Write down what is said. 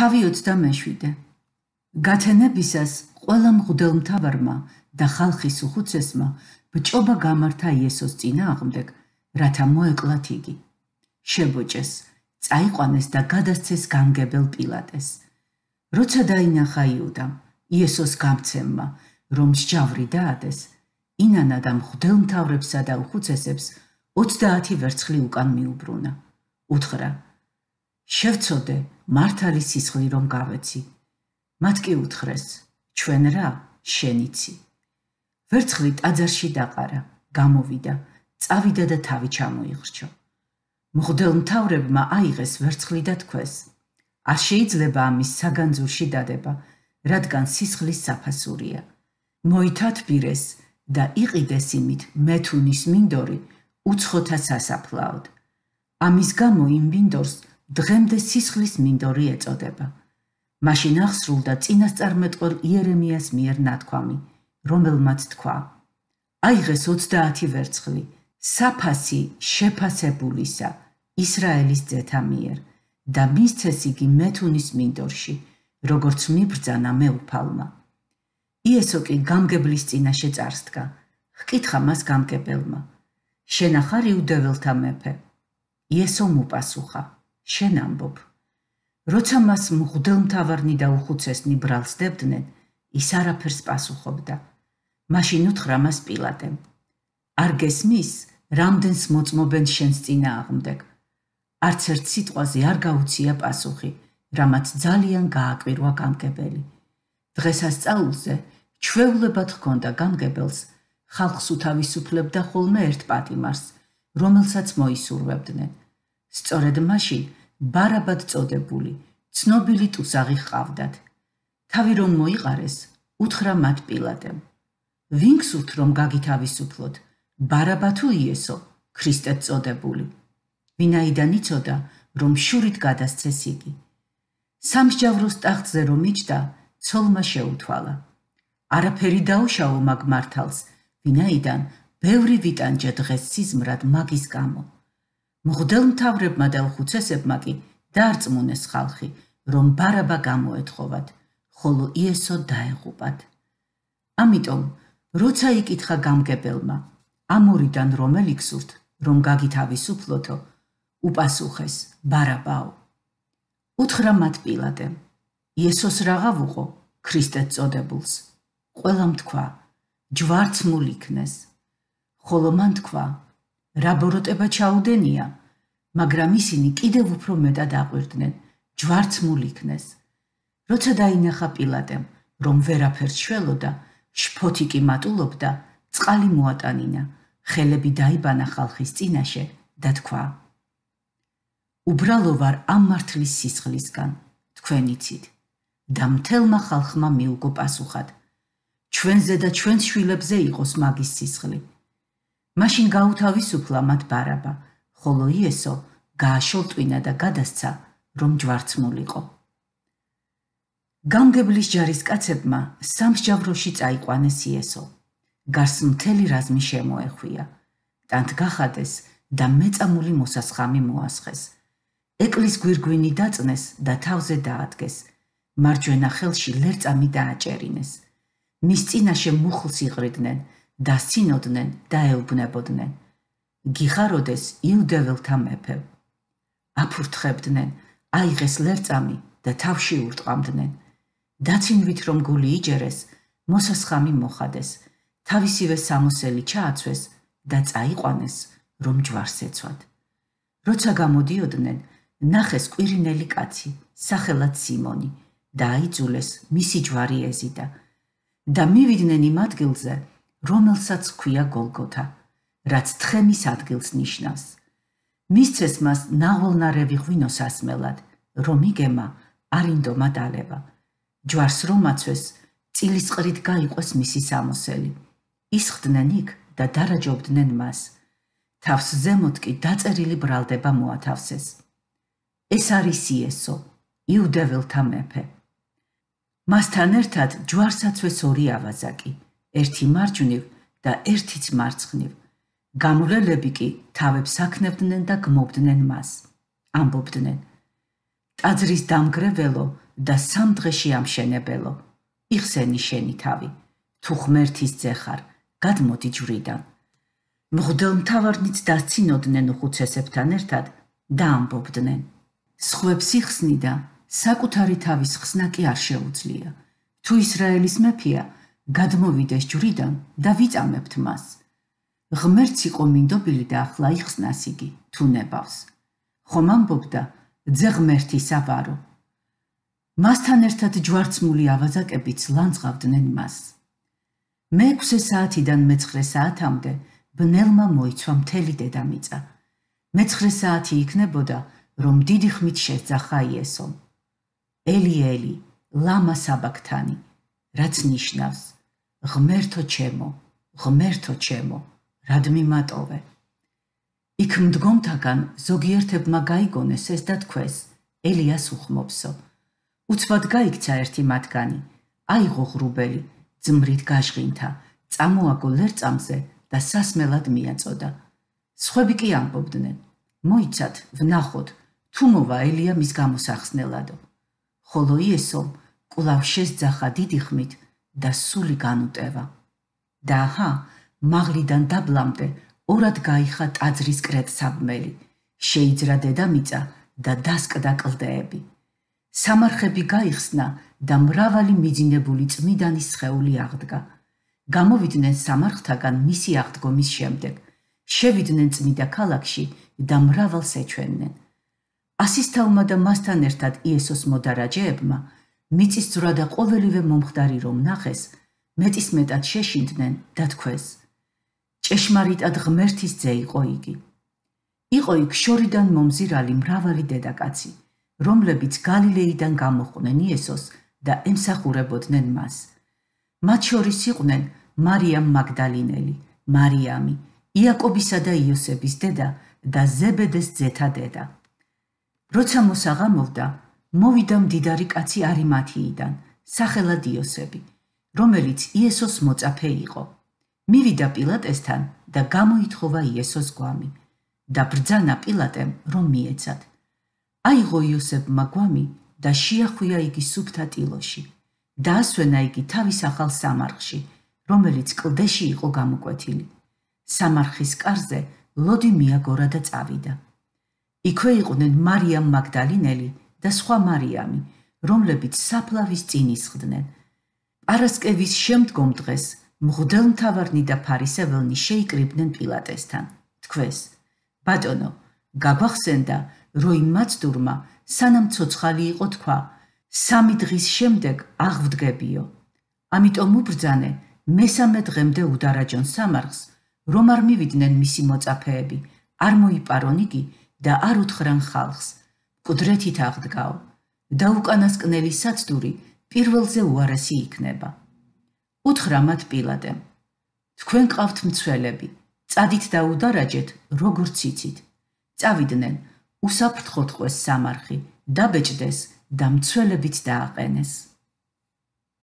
თავი 27. გათენებისას ყველა მღვდელმთავარმა და ხალხის უხუცესმა ბჭობა გამართა იესოს წინააღმდეგ, რათა მოეკლათ იგი. შებოჭეს, წაიყვანეს და გადასცეს გამგებელ პილატეს. როცა დაინახა იუდამ, იესოს გამცემმა, რომ მსჯავრი დაადეს, ინანა და მღვდელმთავრებსა და უხუცესებს 30 ვერცხლი უკან მიუბრუნა. უთხრა: შევცოდე მართალი სისხლი რომ გავეცი. მათ კი უთხრეს: ჩვენ რა, შენიცი. ვერცხლი ტაძარში დაყარა, გამოვიდა, წავიდა და თავი ჩამოიხრჩო. მღვდელმთავრებმა აიღეს ვერცხლი და თქვეს: არ შეიძლება ამის საგანძურში დადება, რადგან სისხლის საფასურია. მოითათბირეს და იყიდეს იმით მეთუნის მინდორი უცხოთა სასაფლაოდ. ამის გამო იმ მინდორს დღემდე სისხლის მინდორი ეწოდება. მაშინ აღსრულდა წინასწარმეტყველ იერემიას მიერ ნათქვამი, რომელმაც თქვა: აიღეს 30 ვერცხლი, საფასი შეფასებულისა ისრაელის ძეთა მიერ და მისცეს იგი მეთუნის მინდორში, როგორც მიბრძანა მეუფალმა. იესო კი გამგებლის წინაშე წარსდგა, ჰკითხა მას გამგებელმა: შენ ახარ იუდეველთა მეფე? იესომ უპასუხა: შენ ამბობ. როცა მას მღვდელმთავარნი და უხუცესნი ბრალს დებდნენ, ის არაფერს პასუხობდა. მაშინ უთხრა მას პილატემ: არ გესმის, რამდენს მოწმობენ შენს წინააღმდეგ? არც ერთ სიტყვაზე არ გაუცია პასუხი, რამაც ძალიან გააკვირვა გამგებელი. დღესასწაულზე ჩვეულებად ჰქონდა გამგებელს ხალხს უთავისუფლებდა ხოლმე ერთ პატიმარს, რომელსაც მოისურვებდნენ. სწორედ მაშინ ბარაბად წოდებული, ცნობილი ტუსაღი ჰყავდათ. თავი რომ მოიყარეს, უთხრა მათ პილატემ: ვინ გსურთ რომ გაგითავისუფლოთ, ბარაბა თუ იესო, ქრისტედ წოდებული? ვინაიდან იცოდა, რომ შურით გადასცეს იგი. სამსჯავროს ტახტზე რომ იჯდა, ცოლმა შეუთვალა: არაფერი დაუშავო მაგ მართალს, ვინაიდან ბევრი ვიტანჯა დღეს სიზმრად მაგის გამო. მღვდელმთავრებმა და უხუცესებმა კი დაარწმუნეს ხალხი, რომ ბარაბა გამოეთხოვათ, ხოლო იესო დაეღუპათ. ამიტომ, როცა იკითხა გამგებელმა, ამ ორიდან რომელი გსურთ, რომ გაგითავისუფლოთო, უპასუხეს: ბარაბაო. უთხრა მათ პილატემ: იესოს რაღა ვუყო, ქრისტედ წოდებულს? ყველამ თქვა: ჯვარცმულ იქნეს. ხოლო მან თქვა: რა ბოროტება ჩაუდენია? მაგრამ ისინი კიდევ უფრო მეტად აყვირდნენ: ჯვარცმულ იქნეს. როცა დაინახა პილატემ, რომ ვერაფერს შველოდა, შფოთი კი მატულობდა, წყალი მოატანინა, ხელები დაიბანა ხალხის წინაშე და თქვა: უბრალო ვარ ამ მართლის სისხლისგან, თქვენ იცით. და მთელმა ხალხმა მიუგო პასუხად: ჩვენზე და ჩვენს შვილებზე იყოს მაგის სისხლი. მაშინ გაუთავისუფლა მათ ბარაბა, ხოლო იესო გააშოლტვინა და გადასცა, რომ ჯვარცმულიყო. გამგებლის ჯარისკაცებმა სამსჯავროში წაიყვანეს იესო. გარს მთელი რაზმი შემოეხვია. ტანთ გახადეს და მეწამული მოსასხამი მოასხეს. ეკლის გვირგვინი დაწნეს და თავზე დაადგეს. მარჯვენა ხელში ლერწამი დააჭერინეს. მის წინაშე მუხლს იყრიდნენ, დასცინოდნენ და ეუბნებოდნენ: გიხაროდეს იუდეველთა მეფე. აფურთხებდნენ, აიღეს ლერწამი და თავში ურტყამდნენ. დაცინვით რომ გული იჯერეს, მოსასხამი მოხადეს, თავისივე სამოსელი ჩააცვეს და წაიყვანეს, რომ ჯვარს ეცვათ. როცა გამოდიოდნენ, ნახეს კვირინელი კაცი, სახელად სიმონი, და აიძულეს მისი ჯვარი ეზიდა. და მივიდნენ იმ ადგილზე, რომელსაც ჰქვია გოლგოთა, რაც თხემის ადგილს ნიშნავს. მისცეს მას ნაღველნარევი ღვინოს ასმელად, რომ იგემა არ ინდომა დალევა. ჯვარს რომ აცვეს, წილისყრით გაიყვეს მისი სამოსელი. ისხდნენ იქ და დარაჯობდნენ მას. თავს ზემოთ კი დაწერილი ბრალდება მოათავსეს: ეს არის იესო, იუდეველთა მეფე. მასთან ერთად ჯვარს აცვეს ორი ავაზაკი, ერთი მარჯვნივ და ერთიც მარცხნივ. გამრელები კი თავებს აქნევდნენ და გმობდნენ მას. ამბობდნენ: ტაძრის დამგრეველო და 3 დღეში ამშენებელო, იხსენი შენი თავი, თუ ღმერთის ძე ხარ, გადმოდი ჯვრიდან. მღვდელმთავარნიც დასცინოდნენ უხუცესებთან ერთად და ამბობდნენ: სხვებს იხსნი და საკუთარი თავის ხსნა კი არ შეუძლია. თუ ისრაელის მეფეა, გადმოვიდეს ჯვრიდან და ვიწამებთ მას. ღმერთს იყო მინდობილი და ახლა იხსნას იგი, თუ ნებავს. ხომ ამბობდა, ძე ღმერთისა ვარო. მასთან ერთად ჯვარცმული ავაზაკებიც ლანძღავდნენ მას. მე-6 საათიდან მე-9 საათამდე ბნელმა მოიცვა მთელი დედამიწა. მე-9 საათი იქნებოდა, რომ დიდი ხმით შეძახა იესომ: ელი ელი, ლამა საბაქთანი, რაც ნიშნავს: ღმერთო ჩემო, ღმერთო ჩემო, რად მიმატოვე. იქ მდგომთაგან ზოგიერთებმა გაიგონეს ეს და თქვეს: ელიას უხმობსო. უცბად გაიქცა ერთი მათგანი, აიღო ღრუბელი, ძმრით გაჟღინთა, წამოაგო ლერწამზე და სასმელად მიაწოდა. სხვები კი ამბობდნენ: მოიცათ, ვნახოთ, თუ მოვა ელია მის გამოსახსნელადო. ხოლო იესომ კვლავ შესძახა დიდი ხმით და სული განუტევა. და აჰა, მაღლიდან დაბლამდე ორად გაიხა ტაძრის კრეტსაბმელი, შეიძრა დედამიწა და დასკდა კლდეები. სამარხები გაიხსნა და მრავალი მიძინებული წმიდანის სხეული აღდგა. გამოვიდნენ სამარხთაგან მისი აღდგომის შემდეგ, შევიდნენ წმიდა ქალაქში და მრავალს ეჩვენენ. ასისთავმა და მასთან ერთად იესოს მოდარაჯეებმა მიწისძვრა და ყოველივე მომხდარი რომ ნახეს, მეტისმეტად შეშინდნენ და თქვეს: ჭეშმარიტად ღმერთის ძე იყო იგი. იყო იქ შორიდან მომზირალი მრავალი დედაკაცი, რომლებიც გალილეიდან გამოხვდნენ იესოს და ემსახურებოდნენ მას. მათ შორის იყვნენ მარიამ მაგდალინელი, მარიამი, იაკობისა და იოსების დედა და ზებედეს ძეთა დედა. როცა მოსაღამოვდა, მოვიდა მდიდარი კაცი არიმათიიდან, სახელად იოსები, რომელიც იესოს მოწაფე იყო. მივიდა პილატესთან და გამოითხოვა იესოს გვამი და ბრძანა პილატემ, რომ მიეცათ. აიღო იოსებმა გვამი და შეახვია იგი სუფთა ტილოში. დაასვენა იგი თავის ახალ სამარხში, რომელიც კლდეში იყო გამოკვეთილი. სამარხის კარზე ლოდი მიაგორა და წავიდა. იქვე იყვნენ მარიამ მაგდალინელი და სხვა მარიამი, რომლებიც საფლავის წინ ისხდნენ. პარასკევის შემდგომ დღეს მღვდელმთავარნი და ფარისეველნი შეიკრიბნენ პილატესთან. თქვეს: ბატონო, გაგვახსენდა, რომ იმ მაცდურმა სანამ ცოცხალი იყო თქვა: 3 დღის შემდეგ აღვდგებიო. ამიტომ უბრძანე, მესამე დღემდე udaraჯონ სამარხს, რომ არ მივიდნენ მისი მოწაფეები, არ მოიპარონ იგი და არ უთხრან ხალხს: მკვდრეთით აღდგაო და უკანასკნელი საცდური პირველზე უარესი იქნება. უთხრა მათ პილატემ: თქვენ ყავთ მცველები, წადით და udaraჯეთ, როგორც იცით. წავიდნენ, უსაფრთხოდ ყვეს სამარხი, დაბეჭდეს და მცველებიც დააყენეს.